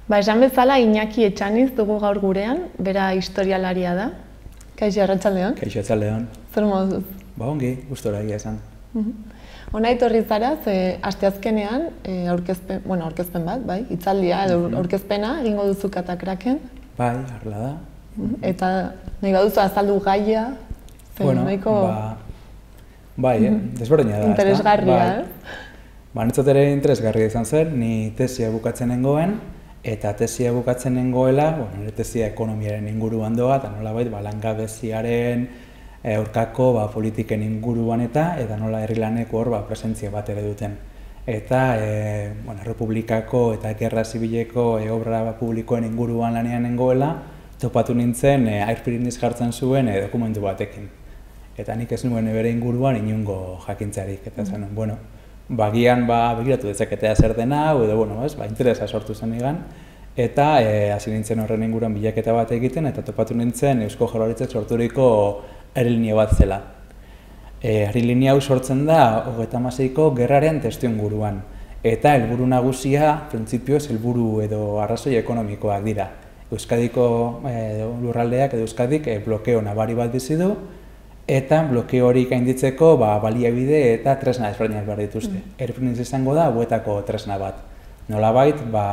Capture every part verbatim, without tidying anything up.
Ba, esan bezala, Iñaki Etxaniz dugu gaur gurean, bera historialaria da. Kaixo, arratsaldeon. Kaixo, arratsaldeon. Zer moduz? Ba, ongi, gustora egia esan. Hona etorri zara, ze asteazkenean, aurkezpen, bueno, aurkezpen bat, bai, hitzaldia edo aurkezpena egingo duzu Katakraken. Bai, harla da. Eta nahi baduzu azaldu gaia, bueno, nahiko... ba, bai, eh? desberdina da. Interesgarria, bai. eh? Ba, nitzat ere interesgarria izan zen, ni tesia bukatzen nengoen, eta tesia bukatzen nengoela, bueno, nire tesia ekonomiaren inguruan doa, eta nolabait, ba, langabeziaren aurkako ba, politiken inguruan eta eta nola herri laneko hor ba, presentzia bat ere duten. Eta e, bueno, Republikako eta Gerra Zibileko e, obra publikoen inguruan lanean nengoela, topatu nintzen e, Airpiriniz jartzen zuen e, dokumentu batekin. Eta nik ez nuen bere inguruan inungo jakintzarik. Eta zen, mm. bueno, bagian ba, begiratu dezaketea zer dena, edo bueno, ez, ba, interesa sortu zen egan. Eta e, hasi nintzen horren inguruan bilaketa bat egiten, eta topatu nintzen Eusko Jaurlaritzak sorturiko aerolinia bat zela. E, aerolinia hau sortzen da hogeita hamaseiko gerraren testuinguruan. Eta helburu nagusia, printzipioz, helburu edo arrazoi ekonomikoak dira. Euskadiko e, lurraldeak edo Euskadik e, blokeo nabari bat bizi du, eta blokeo hori gainditzeko ba, baliabide eta tresna ezberdinak behar dituzte. Mm. Airpiriniz izango da buetako tresna bat. Nolabait, ba,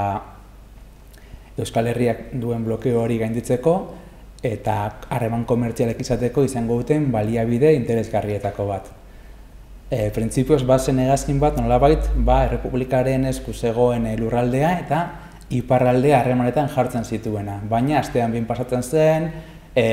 Euskal Herriak duen blokeo hori gainditzeko, eta harreman komertzialek izateko izango duten baliabide interesgarrietako bat. E, Printzipioz, bazen hegazkin bat, nolabait, ba, Errepublikaren esku zegoen lurraldea eta iparraldea harremanetan jartzen zituena. Baina, astean bin pasatzen zen, e,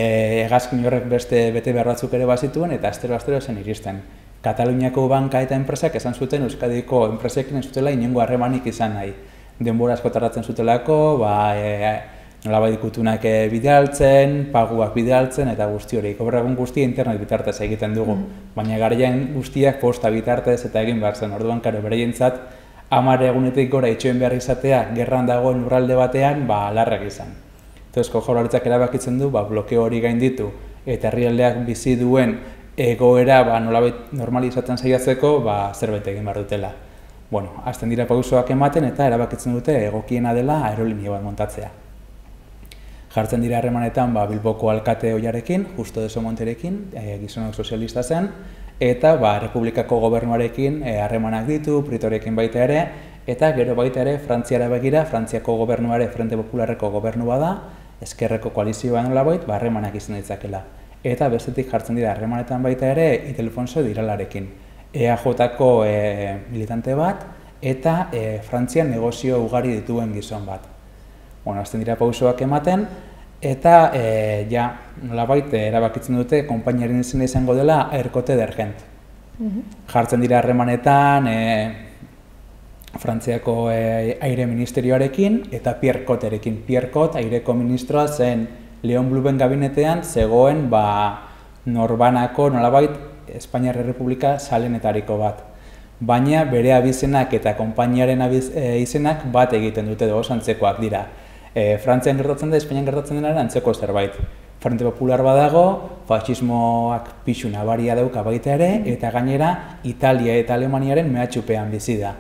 hegazkin horrek beste bete behar batzuk ere bazituen, eta astero-astero zen iristen. Kataluniako banka eta enpresak esan zuten Euskadiko enpresekin ez zutela inongo harremanik izan nahi. Denbora asko tardatzen zutelako, ba, e, nolabait gutunak bidaltzen, paguak bidaltzen eta guzti hori. Gaur egun guztia internet bitartez egiten dugu, mm. baina garaian guztiak posta bitartez eta egin behar zen. Orduan, karo, bereientzat hamar egunetik gora itxoen behar izatea gerran dagoen lurralde batean, ba, larrak izan. Eusko Jaurlaritzak erabakitzen du, ba, blokeo hori gainditu eta herrialdeak bizi duen egoera ba, nolabait normalizatzen saiatzeko ba, zerbait egin behar dutela. Bueno, hasten dira pausoak ematen eta erabakitzen dute egokiena dela aerolinia bat montatzea. Jartzen dira harremanetan ba, Bilboko alkate ohiarekin, Justo de Somonterekin, e, gizonok sozialista zen, eta ba, Republikako gobernuarekin harremanak e, ditu, Pritorekin baita ere, eta gero baita ere Frantziara begira, Frantziako gobernuare Frente Popularreko gobernu bada, ezkerreko koalizioa nolabait, ba, harremanak izan ditzakela. Eta bestetik jartzen dira harremanetan baita ere Ildefonso Diralarekin, E A Jko e, militante bat, eta e, Frantzian negozio ugari dituen gizon bat. Bueno, azten dira pausoak ematen, eta e, ja, nolabait erabakitzen dute konpainiaren izena izango dela Aircote d'Argent. Mm-hmm. Jartzen dira harremanetan e, Frantziako e, aire ministerioarekin eta Pierre Cotterekin. Pierre Cot, aireko ministroa zen Leon Bluben gabinetean zegoen ba, norbanako nolabait Espainiar Errepublika salenetariko bat. Baina bere abizenak eta konpainiaren abiz, e, izenak bat egiten dute dugu antzekoak dira. E, Frantzian gertatzen da, Espainian gertatzen denaren antzeko zerbait. Frente Popular badago, fascismoak pixu nabaria dauka baita ere, eta gainera Italia eta Alemaniaren mehatxupean bizi da.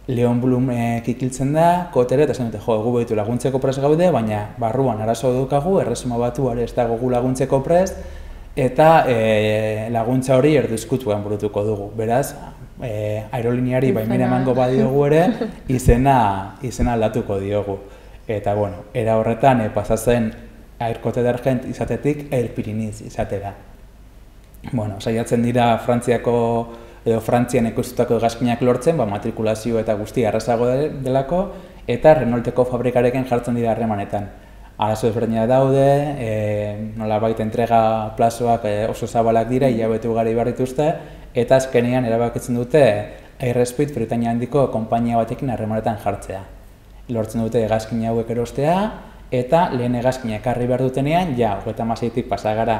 Leon Blum e, kikiltzen da, Kotere, eta zen dute, jo, egu behitu laguntzeko prest gaude, baina barruan arazo dukagu, erresuma batuare ez dago gu laguntzeko prest, eta e, laguntza hori erduzkutuan burutuko dugu. Beraz, e, aeroliniari baimena emango badiogu ere, izena, izena aldatuko diogu. Eta, bueno, era horretan, e, pasatzen Aircote d'Argent izatetik Airpiriniz izatera. Bueno, saiatzen dira Frantziako, edo Frantzian ekoiztutako hegazkinak lortzen, ba, matrikulazio eta guzti arrazago delako, eta Renaulteko fabrikarekin jartzen dira harremanetan. Arazo ezberdinak daude, e, nolabait entrega plazoak e, oso zabalak dira, hilabete ugari behar dituzte, eta azkenean erabakitzen dute Airspeed Britainia handiko konpainia batekin harremanetan jartzea. Lortzen dute hegazkin hauek erostea, eta lehen hegazkina ekarri behar dutenean, ja, hogeita hamaseitik pasa gara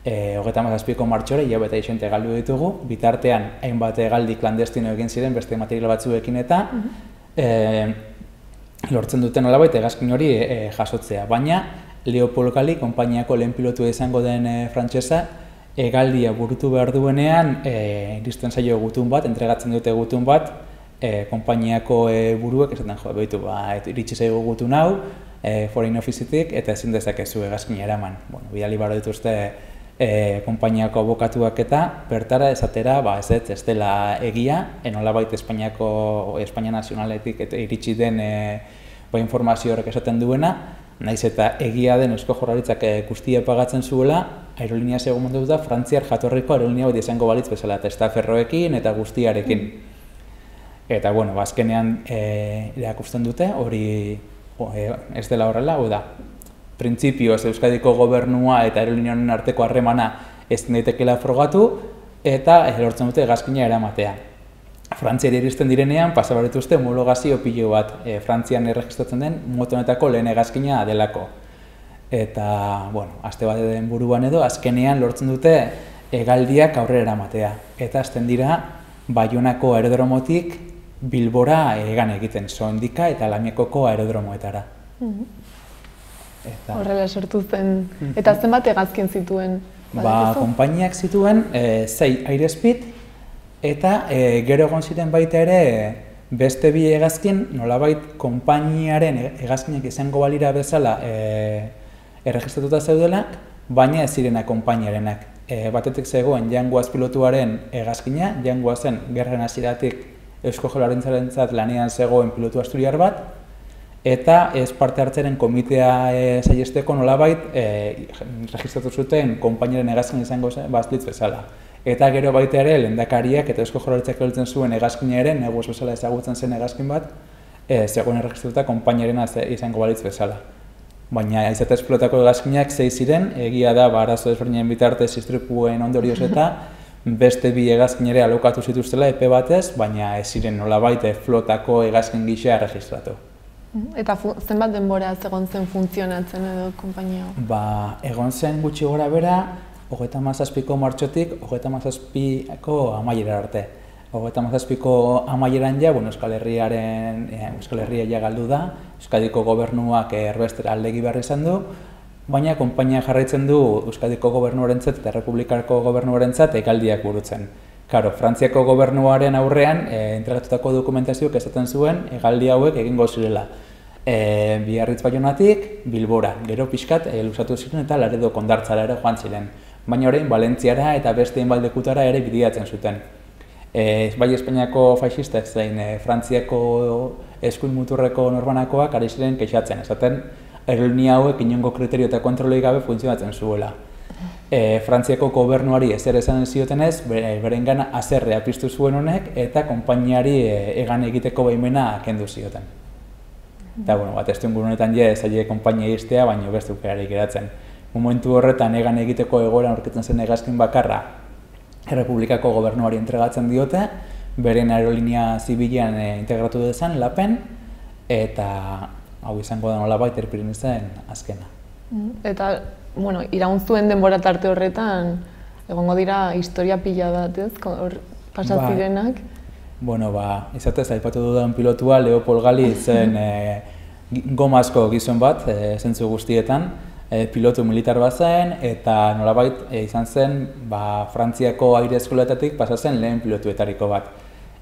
e, hogeita hamazazpiko martxora, hilabete isente galdu ditugu, bitartean hainbat hegaldi klandestino egin ziren beste material batzuekin eta, e, lortzen duten nolabait hegazkin hori e, jasotzea. Baina, Leopold Galli, konpainiako lehen pilotua izango den e, frantsesa, hegaldia burutu behar duenean, e, iristen zaio gutun bat, entregatzen dute gutun bat, e, konpainiako e, buruek esaten jo, behitu, ba, iritsi zaigu gutun hau, e, foreign office-etik, eta ezin dezakezu hegazkina eraman. Bueno, bidali baro dituzte e, konpainiako abokatuak eta bertara esatera, ba, ez ez, ez dela egia, enolabait Espainiako, Espainia nazionaletik eta iritsi den e, ba, informazio horrek esaten duena, naiz eta egia den Eusko Jaurlaritzak guztia pagatzen zuela, aerolinea segun mundu da Frantziar jatorriko aerolinea bat izango balitz bezala, eta estaferroekin eta guztiarekin. Eta, bueno, azkenean e, erakusten dute, hori o, e, ez dela horrela, hau da, printzipioz Euskadiko gobernua eta aerolinea honen arteko harremana ez daitekela frogatu, eta lortzen dute hegazkina eramatea. Frantziari iristen direnean, pasa behar dituzte homologazio pilo bat, e, Frantzian erregistratzen den moto honetako lehen hegazkina delako. Eta, bueno, aste bat den buruan edo, azkenean lortzen dute hegaldiak aurrera eramatea. Eta azten dira, Baionako aerodromotik Bilbora hegan egiten, Soindika eta Lamiakoko aerodromoetara. Eta... Horrela sortu zen. Eta zenbat hegazkin zituen? Ba, konpainiak zituen e, zei Airspeed, eta e, gero egon ziren baita ere beste bi hegazkin, nolabait konpainiaren hegazkinak izango balira bezala e, erregistratuta zeudelak, baina ez zirena konpainiarenak. E, batetik zegoen Jan Guaz pilotuaren hegazkina, Jan Guazen gerran hasieratik Eusko Jaurlaritzarentzat lanean zegoen pilotu asturiar bat, eta ez parte hartzaren komitea e, saihesteko nolabait e, registratu zuten konpainiaren hegazkin izango bazlitz bezala. Eta gero baita ere, lehendakariak eta Eusko Jaurlaritzak erabiltzen zuen hegazkina ere, negoz bezala ezagutzen zen hegazkin bat, e, zegoen erregistratuta konpainiaren izango balitz bezala. Baina ez eta esplotako hegazkinak zei ziren, egia da, ba, arazo ezberdinen bitartez istripuen ondorioz eta beste bi hegazkin ere alokatu zituztela epe batez, baina ez ziren nolabait flotako hegazkin gisa erregistratu. Eta zenbat denbora egon zen funtzionatzen edo konpainia? Ba, egon zen gutxi gora bera, hogeita hamazazpiko martxotik, hogeita hamazazpiko amaiera arte. Hogeita hamazazpiko amaieran ja, bueno, Euskal Herriaren, eh, Euskal Herria ja galdu da, Euskadiko gobernuak erbestera aldegi behar izan du, baina konpainia jarraitzen du Euskadiko gobernuarentzat eta Republikarko gobernuarentzat hegaldiak burutzen. Karo, Frantziako gobernuaren aurrean e, entregatutako dokumentazioak esaten zuen hegaldi hauek egingo zirela. E, Biarritz Baionatik Bilbora, gero pixkat e, luzatu ziren eta Laredo Kondartzara ere joan ziren. Baina orain Valentziara eta beste hainbat ere bidiatzen zuten. E, bai Espainiako faxistak zein e, Frantziako eskuin muturreko norbanakoak ari ziren kexatzen, esaten aerolinia hauek inongo kriterio eta kontrolei gabe funtzionatzen zuela. E, Frantziako gobernuari ezer esan ziotenez, berengan haserrea piztu zuen honek eta konpainiari e, egan egiteko baimena kendu zioten. Eta, bueno, bat ez duen honetan je, zaile konpainia iztea, baina beste ukerarik geratzen. Momentu horretan egan egiteko egoeran aurkitzen zen hegazkin bakarra Errepublikako gobernuari entregatzen diote, beren aerolinea zibilean e, integratu dezan, lapen, eta hau izango da nolabait Erpirinisen azkena. Eta, bueno, iraun zuen denbora tarte horretan, egongo dira historia pila bat, ez? Hor pasat zirenak. Bueno, ba, izatez, aipatu dudan pilotua, Leopold Gali zen e, gomazko gizon bat, e, zentzu guztietan, e, pilotu militar bat zen, eta nolabait e, izan zen, ba, Frantziako aire eskoletatik pasa zen lehen pilotuetariko bat.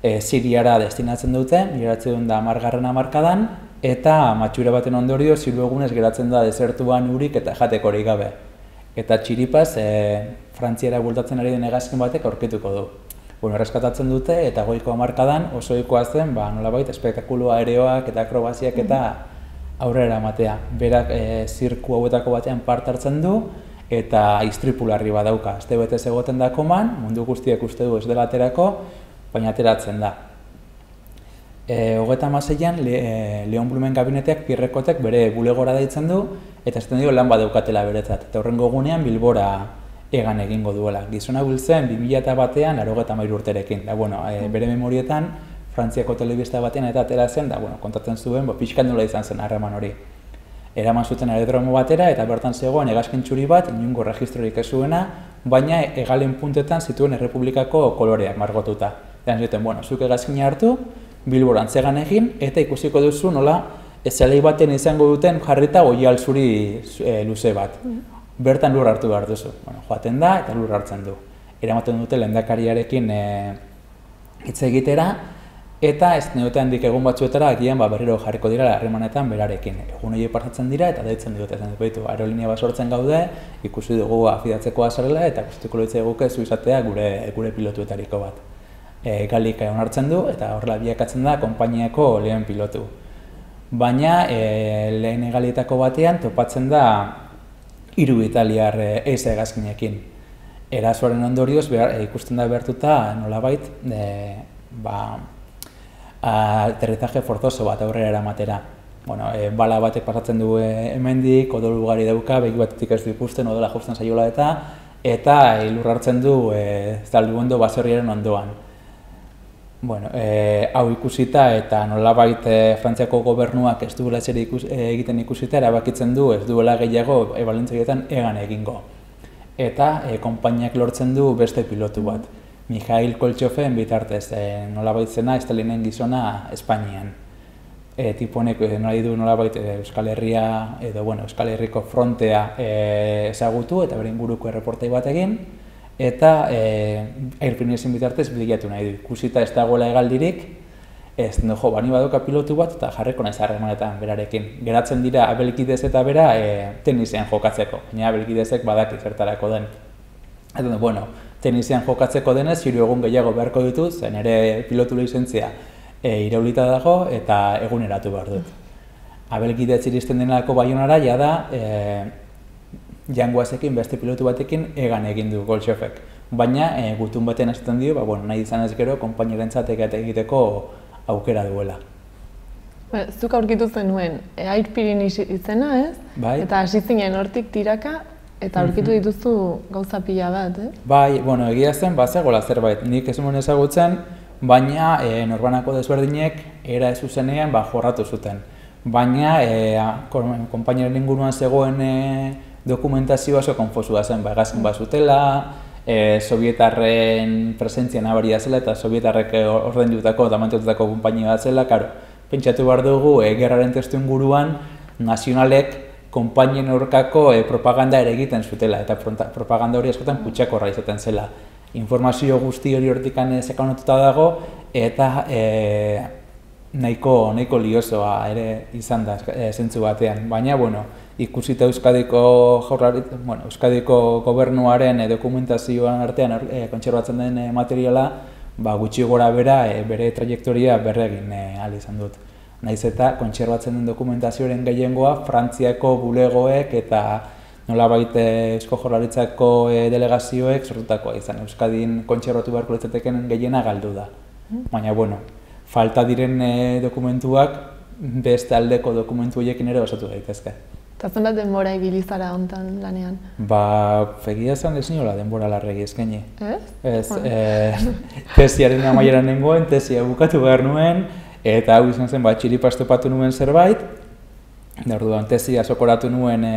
E, Siriara destinatzen dute, miratzen da hamargarren hamarkadan, eta matxura baten ondorio ziru egunez geratzen da desertuan urik eta jatekorik gabe. Eta txiripaz, e, Frantziara bultatzen ari den hegazkin batek aurkituko du. Bueno, erreskatatzen dute eta goiko hamarkadan oso ohikoa zen, ba, nolabait, espektakulu aereoak eta akrobaziak eta aurrera ematea. Berak e, zirku hauetako batean parte hartzen du eta istripularri badauka. Aste betez egoten da koman, mundu guztiak uste du ez dela aterako, baina ateratzen da. E, Hogeita hamaseian Le, e, Leon Blumen gabineteak Pirrekotek bere bulegora deitzen du eta esaten dio lan badaukatela beretzat. Eta horrengo egunean Bilbora egan egingo duela. Gizona biltzen bi mila batean laurogeita hamairu urterekin. Da, bueno, e, bere memorietan Frantziako telebista batean eta atera zen, da, bueno, kontatzen zuen, bo, pixkan nola izan zen harreman hori. Eraman zuten aerodromo batera eta bertan zegoen hegazkin txuri bat, inongo registrorik ez zuena, baina hegalen puntetan zituen Errepublikako koloreak margotuta. Eta zuten, bueno, zuk hegazkina hartu, Bilboran zegan egin, eta ikusiko duzu nola zelai baten izango duten jarrita oial zuri e, luze bat. Bertan lur hartu behar duzu. Bueno, joaten da eta lur hartzen du. Eramaten dute lehendakariarekin e, hitz egitera, eta ez neote handik egun batzuetara agian ba, berriro jarriko dira harremanetan berarekin. Egun horiek pasatzen dira eta deitzen diote zen ditu, aerolinia bat sortzen gaude, ikusi dugu afidatzeko azarela eta guztiko loitza eguke zu izatea gure, gure pilotuetariko bat. E, Galik onartzen du eta horrela biakatzen da konpainiako lehen pilotu. Baina e, lehen egalietako batean topatzen da hiru italiar eise hegazkinekin. Erasoaren ondorioz behar, e, ikusten da behartuta nolabait e, ba, aterrizaje forzoso bat aurrera eramatera. Bueno, e, bala batek pasatzen du e, hemendik, odol ugari dauka, begi batetik ez du ikusten, odola justen zaiola eta eta elur hartzen du e, zalduondo baserriaren ondoan. Bueno, e, hau ikusita eta nolabait e, Frantziako gobernuak ez duela zer ikus, e, egiten ikusita erabakitzen du ez duela gehiago e, balentzioetan egan egingo. Eta e, konpainiak lortzen du beste pilotu bat. Mikhail Koltxofen bitartez, e, nolabait zena Stalinen gizona Espainian. E, tipo honek e, nolai du nolabait e, Euskal Herria edo bueno, Euskal Herriko frontea e, ezagutu eta bere inguruko erreportai bat egin. Eta e, Airfinesin bitartez bilatu nahi du. Ikusita ez dagoela hegaldirik, ez no, jo, bani badoka pilotu bat eta jarriko naiz harremanetan berarekin. Geratzen dira Abelkidez eta bera e, tenisean jokatzeko, baina Abelkidezek badaki zertarako den. Eta, bueno, tenisean jokatzeko denez, hiru egun gehiago beharko ditut, zen ere pilotu lizentzia e, iraulita dago eta eguneratu behar dut. Abelkidez iristen denako Baionara, jada, e, Jangoazekin beste pilotu batekin egan egin du Koltxofek. Baina e, gutun batean esaten dio, ba, bueno, nahi izan ez gero, konpainierentzat egiteko aukera duela. Ba, zuk aurkitu zenuen, e, Airpirin izena ez? Bai. Eta hasi zinen hortik tiraka, eta aurkitu dituzu gauza pila bat, eh? Bai, bueno, egia zen, bazegoela zerbait, nik ez nuen ezagutzen, baina e, norbanako desberdinek era ez zuzenean ba, jorratu zuten. Baina e, konpainieren inguruan zegoen e, dokumentazioa oso konfusua zen, ba, hegazkin bat zutela, e, sovietarren presentzia nabaria zela eta sovietarrek ordaindutako eta mantututako konpainia bat zela, karo, pentsatu behar dugu, e, gerraren testu inguruan nazionalek konpainien aurkako e, propaganda ere egiten zutela, eta propaganda hori askotan kutsakorra izaten zela. Informazio guzti hori hortikan sekanatuta dago, eta e, nahiko, nahiko liosoa ere izan da e, zentzu batean. Baina, bueno, ikusita Euskadiko jaurlarit, bueno, Euskadiko gobernuaren e, dokumentazioan artean e, kontserbatzen den e, materiala, ba, gutxi gora bera e, bere trajektoria berregin e, ahal izan dut. Naiz eta kontserbatzen den dokumentazioaren gehiengoa Frantziako bulegoek eta nolabait Eusko Jaurlaritzako e, delegazioek sortutakoa izan. Euskadin kontserbatu beharko litzateken gehiena galdu da. Baina, bueno, falta diren e, dokumentuak beste aldeko dokumentu horiekin ere osatu daitezke. Eta zenbat denbora ibili zara hontan lanean? Ba, egia esan ez niola denbora larregi eskaini. Ez? Ez, e, tesiaren amaieran nengoen, tesia bukatu behar nuen, eta hau izan zen, ba, txiripaz topatu nuen zerbait, orduan tesia sokoratu nuen e,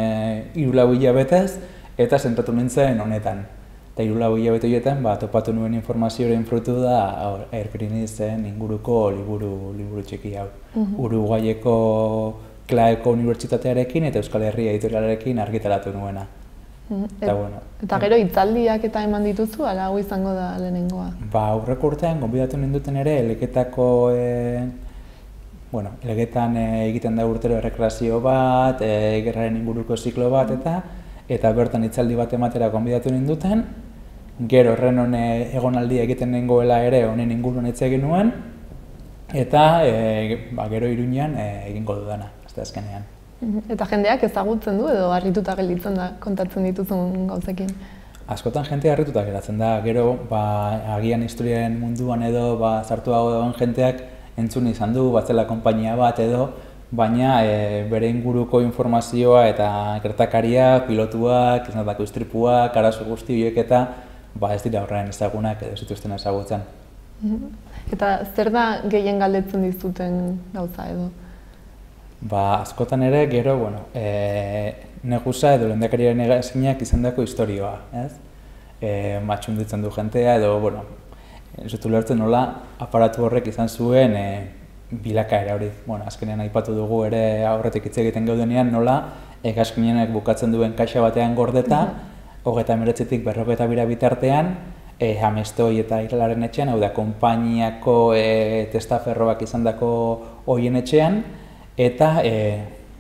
hiru lau hilabetez, eta zentratu nintzen honetan. Eta hiru lau hilabete horietan, ba, topatu nuen informazioaren frutu da Airpirinizen inguruko liburu, liburu txiki hau. Uh-huh. Uruguaieko Klaeko Unibertsitatearekin eta Euskal Herria editorialarekin argitaratu nuena. Mm, et, eta, bueno, eta gero hitzaldiak eta eman dituzu, ala hau izango da lehenengoa? Ba, aurreko urtean, gonbidatu ninduten ere, Eleketako, e, bueno, Eleketan e, egiten da urtero errekreazio bat, e, gerraren inguruko ziklo bat, eta eta bertan hitzaldi bat ematera gonbidatu ninduten, gero horren hone egonaldia egiten nengoela ere honen inguruan hitz egin nuen, eta e, ba, gero Iruñean e, egingo dudana. Azkenean. Eta jendeak ezagutzen du edo harrituta gelditzen da kontatzen dituzun gauzekin? Askotan jendea harrituta geratzen da, gero ba, agian historiaren munduan edo ba, zartuago dagoen jenteak entzun izan du, batzela konpainia bat edo, baina e, bere inguruko informazioa eta gertakaria, pilotuak, iznatako istripuak, arazo guzti horiek eta ba, ez dira horrean ezagunak edo zituzten ezagutzen. Eta zer da gehien galdetzen dizuten gauza edo? Ba, askotan ere, gero, bueno, e, negusa edo lehendakariaren hegazkinak izan dako historioa, ez? E, matxunditzen du jentea edo, bueno, ez dut ulertzen nola aparatu horrek izan zuen e, bilakaera hori. Bueno, azkenean aipatu dugu ere aurretik hitz egiten gaudenean nola hegazkinak bukatzen duen kaxa batean gordeta, hogeita hemeretzitik berrogeita bira bitartean, e, Amestoi eta Iralaren etxean, hau da, konpainiako e, testaferroak izandako hoien etxean, eta e,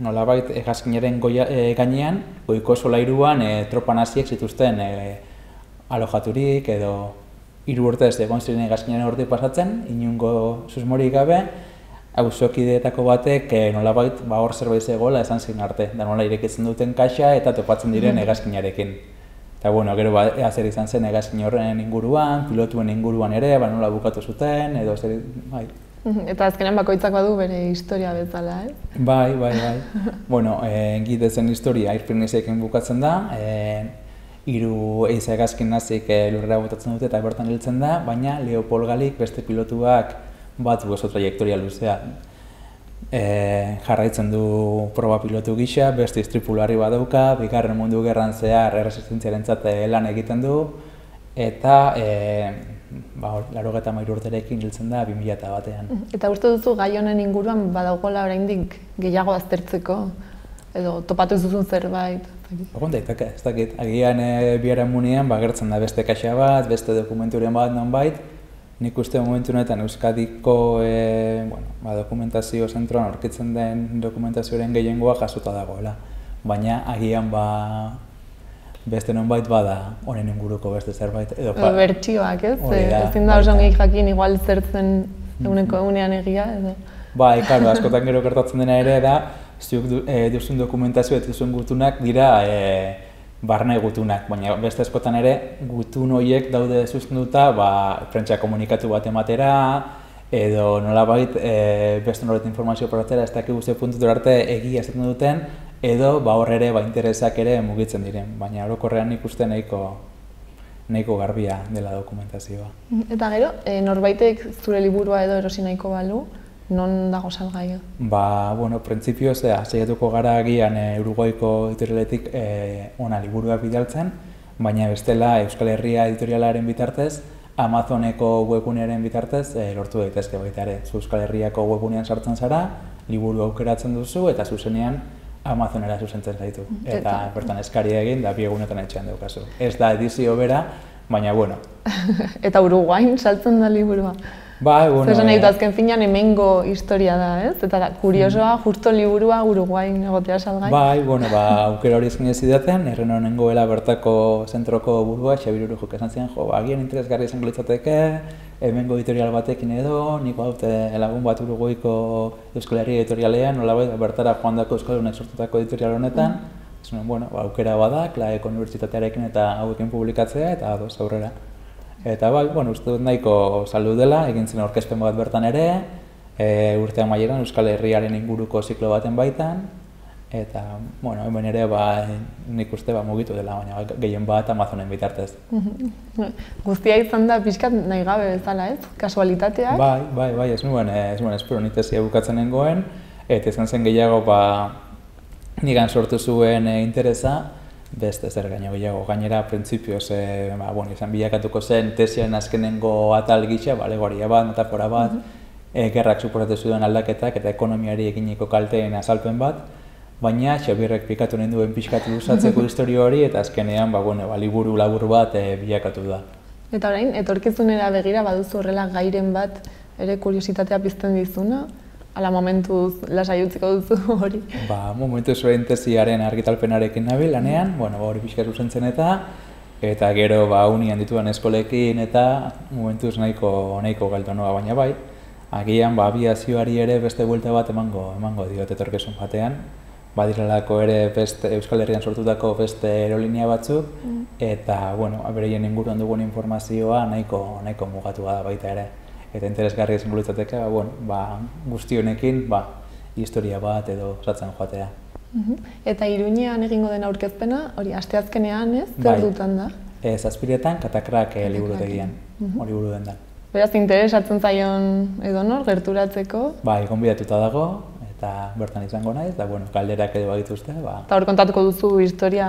nolabait hegazkinaren e, gainean, goiko solairuan e, tropa naziek zituzten e, alojaturik edo hiru urtez egon ziren hegazkinaren hortik pasatzen, inungo susmorik gabe, auzokideetako batek e, nolabait ba, hor zerbait zegoela esan ziren arte, da nola irekitzen duten kaxa eta topatzen diren hegazkinarekin. Eta bueno, gero ba, ea zer izan zen hegazkin horren inguruan, pilotuen inguruan ere, ba, nola bukatu zuten, edo zer, bai. Eta azkenean bakoitzak badu bere historia bezala, ez? Bai, bai, bai. Bueno, e, gidezen historia Irpinizekin bukatzen da, e, hiru eiza hegazkin nazik e, lurrera botatzen dute eta bertan hiltzen da, baina Leopold Galik beste pilotuak bat oso trajektoria luzea. E, jarraitzen du proba pilotu gisa, beste istripulari badauka, bigarren mundu gerran zehar erresistentziarentzat lan egiten du, eta e, ba, laurogeita hamairu urterekin hiltzen da bi mila batean. Eta uste duzu gai honen inguruan badagoela oraindik gehiago aztertzeko, edo topatu duzun zerbait? Egon daiteke, ez dakit. Agian e, biharamunean ba, gertzen da beste kaxa bat, beste dokumenturen bat nonbait. Nik uste momentu honetan Euskadiko e, bueno, ba, dokumentazio zentroan aurkitzen den dokumentazioaren gehiengoa jasota dagoela. Baina agian ba, beste nonbait bada honen inguruko beste zerbait. Edo, edo bertsioak, ez? Ezin da oso ongi jakin igual zertzen eguneko egunean egia, edo? Bai, karo, askotan gero gertatzen dena ere da, zuk du, e, duzun dokumentazio eta duzun gutunak dira e, barne gutunak, baina beste askotan ere gutun horiek daude sustenduta ba, prentsa komunikatu bat ematera, edo nolabait e, beste noret informazio portatzera ez dakik guzti puntutura arte egia esaten duten, edo ba, hor ere ba, interesak ere mugitzen diren, baina orokorrean ikusten nahiko, nahiko garbia dela dokumentazioa. Eta gero, e, norbaitek zure liburua edo erosi nahiko balu, non dago salgai? Ba, bueno, printzipioz, saiatuko gara agian e, Uruguaiko editorialetik e, ona liburuak bidaltzen, baina bestela Euskal Herria editorialaren bitartez, Amazoneko webgunearen bitartez e, lortu daitezke baita ere. Zu Euskal Herriako webgunean sartzen zara, liburu aukeratzen duzu eta zuzenean Amazonera zuzentzen zaitu. Eta bertan eskaria egin da bi egunetan etxean daukazu. Ez da edizio bera, baina bueno. Eta Uruguain saltzen da liburua? Bai, bueno, Zer nahi dut azken finean hemengo historia da, ez? Eta da, kuriosoa, justo liburua Uruguain egotea salgai. Bai, bueno, ba, aukera hori eskin ez zidaten, erren honen goela bertako zentroko burua, Xabir Urujok esan ziren, jo, agian interesgarri izango litzateke, hemengo editorial batekin edo, nik badute lagun bat Uruguaiko Euskal Herria editorialean, nolabait bertara joandako euskaldunek sortutako editorial honetan, mm. bueno, ba, aukera bada, Klaeko Unibertsitatearekin eta hauekin publikatzea eta ados aurrera. Eta bai, bueno, uste dut nahiko saldu dela, egin zen aurkezpen bat bertan ere, e, urte amaieran Euskal Herriaren inguruko ziklo baten baitan, eta, bueno, hemen ere ba, nik uste ba, mugitu dela, baina gehien bat Amazonen bitartez. Guztia izan da pixkat nahi gabe bezala, ez? Kasualitateak? Bai, bai, bai, ez nuen, ez nuen, espero nitezia bukatzen nengoen, eta izan zen gehiago, ba, nigan sortu zuen e, interesa, beste zer gaino gehiago, gainera printzipioz e, ba, bueno, izan bilakatuko zen tesiaren azkenengo atal gisa, ba, alegoria bat, metafora bat, mm -hmm. e, gerrak suposatu zuen aldaketak eta ekonomiari eginiko kalteen azalpen bat, baina Xabirrek pikatu nahi duen pixkatu luzatzeko historia hori eta azkenean ba, bueno, ba, liburu labur bat e, bilakatu da. Eta orain, etorkizunera begira baduzu horrela gairen bat ere kuriositatea pizten dizuna? Ala momentuz lasai utziko duzu hori? Ba, momentuz orain tesiaren argitalpenarekin nabil lanean, bueno, hori pixka zuzentzen eta eta gero ba unian dituan eskolekin eta momentuz nahiko nahiko galdu noa, baina bai, agian ba abiazioari ere beste buelta bat emango emango diot etorkizun batean. Badirelako ere beste Euskal Herrian sortutako beste aerolinea batzuk mm. eta bueno, bereien inguruan dugun informazioa nahiko nahiko mugatua da baita ere. Eta interesgarria izango litzateke, ba, bueno, ba, guzti honekin ba, historia bat edo osatzen joatea. Uh-huh. Eta Iruñean egingo den aurkezpena, hori asteazkenean ez, zer dutan da? Ez, Zazpiretan, Katakrak e, liburutegian, uh-huh. hori buru den da. Beraz, interesatzen zaion edonor, gerturatzeko? Bai, gonbidatuta dago, eta bertan izango naiz, eta bueno, galderak edo badituzte. Ba. Eta hor kontatuko duzu historia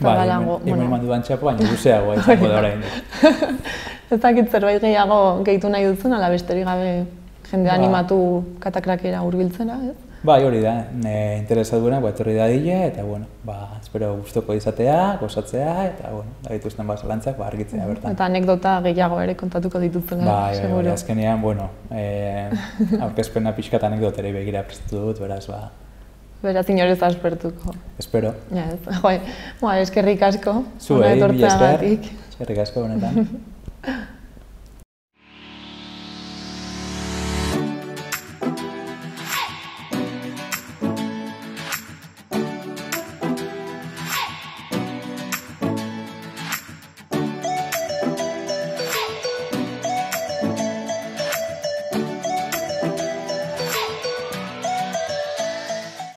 zabalago. Bai, hemen mandu bantxapo, baina luzeagoa izango da orain. Ez dakit zerbait gehiago gehitu nahi duzun, ala besterik gabe jende animatu Katakrakera hurbiltzera, ez? Bai, hori da, e, interesaduena, ba, etorri da dile, eta, bueno, ba, espero gustoko izatea, gozatzea, eta, bueno, da dituzten ba, zalantzak, ba, argitzea bertan. Eta anekdota gehiago ere kontatuko dituzela, bai, seguro. Bai, azkenean, bueno, e, aurkezpena pixkat anekdoterei begira prestatu dut, beraz, ba... Beraz, inorez aspertuko. Espero. Ja, ez, joi, ba, eskerrik asko. Zuei, mila esker, eskerrik asko honetan.